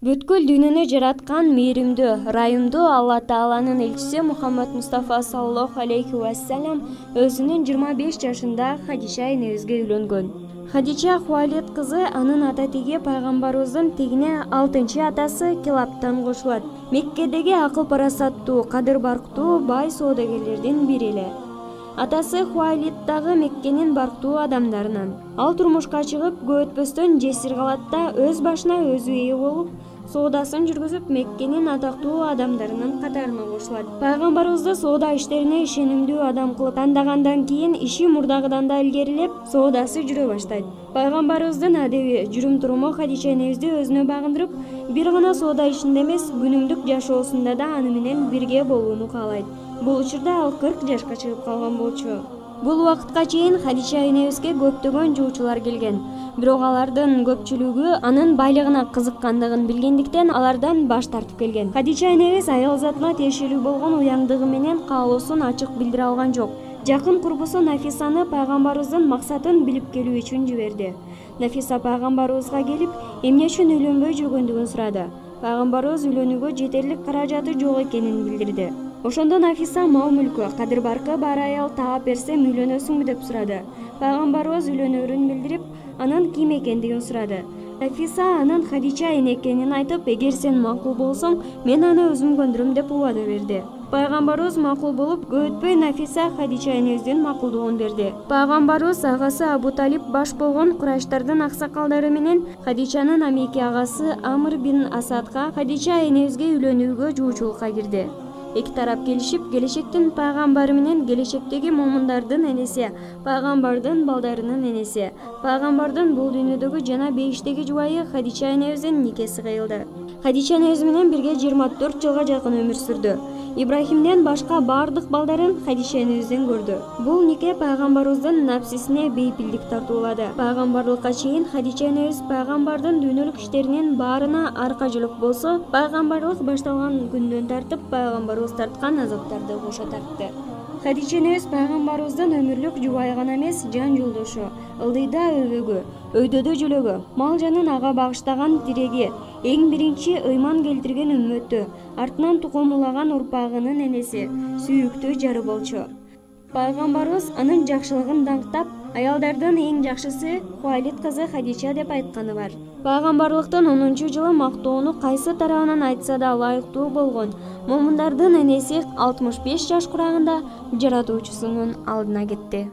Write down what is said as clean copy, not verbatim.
Бүткүл дүйнөнү жараткан мээримдүү, ырайымдуу Алла Тааланын элчиси Мухаммад Мустафа саллаллаху алейхи вассалам өзүнүн 25 жашында Хадиша энебизге үйлөнгөн. Хадича Хуайлид кызы анын ата-теги пайгамбарыбыздын тегине 6-чы атасы Килабтан кошулат. Меккедеги акыл-парасаттуу, кадыр-барктуу бай соодагерлердин бири эле. Атасы Хуайлид дагы Меккенин барктуу адамдарынан. Ал турмушка чыгып, көп өтпөстөн жесир калат да өз башына өзү ээ болуп, соодасын жүргүзүп, Меккенин атактуу адамдарынын катарына кошулат. Пайгамбарыбызды соода иштерине ишенимдүү адам кылып тандагандан кийин иши мурдагыдан да илгерилеп, соодасы жүрө баштайт. Пайгамбарыбыздын адеби, жүрүм-туруму Хадича энебизди өзүнө багындырып, бир гана соода ишинде эмес, күнүмдүк жашоосунда да аны менен бирге болууну каалайт. Бул учурда ал 40 жашка чыгып калган болчу. Бул убакытка чейин Хадича энебизге көптөгөн жуучулар келген. Бирок алардын көпчүлүгү анын байлыгына кызыккандыгын билгендиктен алардан баш тартып келген. Хадича энебиз аял затына тиешелүү болгон уяңдыгы менен каалоосун ачык билдире алган жок. Жакын курбусу Нафисаны пайгамбарыбыздын максатын билип келүү үчүн жиберди. Нафиса пайгамбарыбызга келип, эмне үчүн үйлөнбөй жүргөндүгүн сурады. Пайгамбарыбыз үйлөнүүгө жетерлик каражаты жок экенин билдирди. Ошондо Нафиса мал-мүлкү, кадыр-баркы бар аял таап берсем үйлөнөсүңбү деп сурады. Пайгамбарыбыз үйлөнөрүн билдирип, анын ким экендигин сурады. Нафиса анын Хадича эне экенин айтып, эгер сен макул болсоң, мен аны өзүм көндүрөм деп убада берди. Пайгамбарыбыз макул болуп, көп өтпөй Нафиса Хадича энебиздин макулдугун берди. Пайгамбарыбыз агасы Абу Талиб баш болгон Курайштардын аксакалдары менен Хадичанын амеки агасы Амр бин Асадга Хадича энебизге үйлөнүүгө жуучулукка кирди. Эки тарап келишип, келечектин пайгамбары менен келечектеги момундардын энеси, пайгамбардын балдарынын энеси, пайгамбардын бул дүйнөдөгү жана бейиштеги жубайы Хадича энебиздин никеси кыйылды. Хадича энебиз менен бирге 24 жылга жакын өмүр сүрдү. Ибрахимден башка бардык балдарын Хадича энебизден көрдү. Бул нике пайгамбарыбыздын напсисине бейпилдик тартуулады. Пайгамбарлыкка чейин Хадича энебиз пайгамбардын дүйнөлүк иштеринин баарына аркажылык болсо, пайгамбарлык башталган күндөн тартып пайгамбарыбыз тарткан азаптарды кошо тартты. Хадича энебиз пайгамбарыбыздын өмүрлүк жубайы гана эмес, жан жолдошу, ылдыйда өбөгү, өйдөдө жөлөгү, мал жанын ага багыштаган тиреги, эң биринчи ыйман келтирген үммөтү, артынан тукумулаган урпагынын энеси, сүйүктүү жары болчу. Пайгамбарыбыз анын жакшылыгын даңктап, аялдардын эң жакшысы Хуайлид кызы Хадича деп айтканы бар. Пайгамбарлыктын 10-жылы мактоону кайсы тарабынан айтса да ылайыктуу болгон момундардын энеси 65 жаш курагында жаратуучусунун алдына кетти.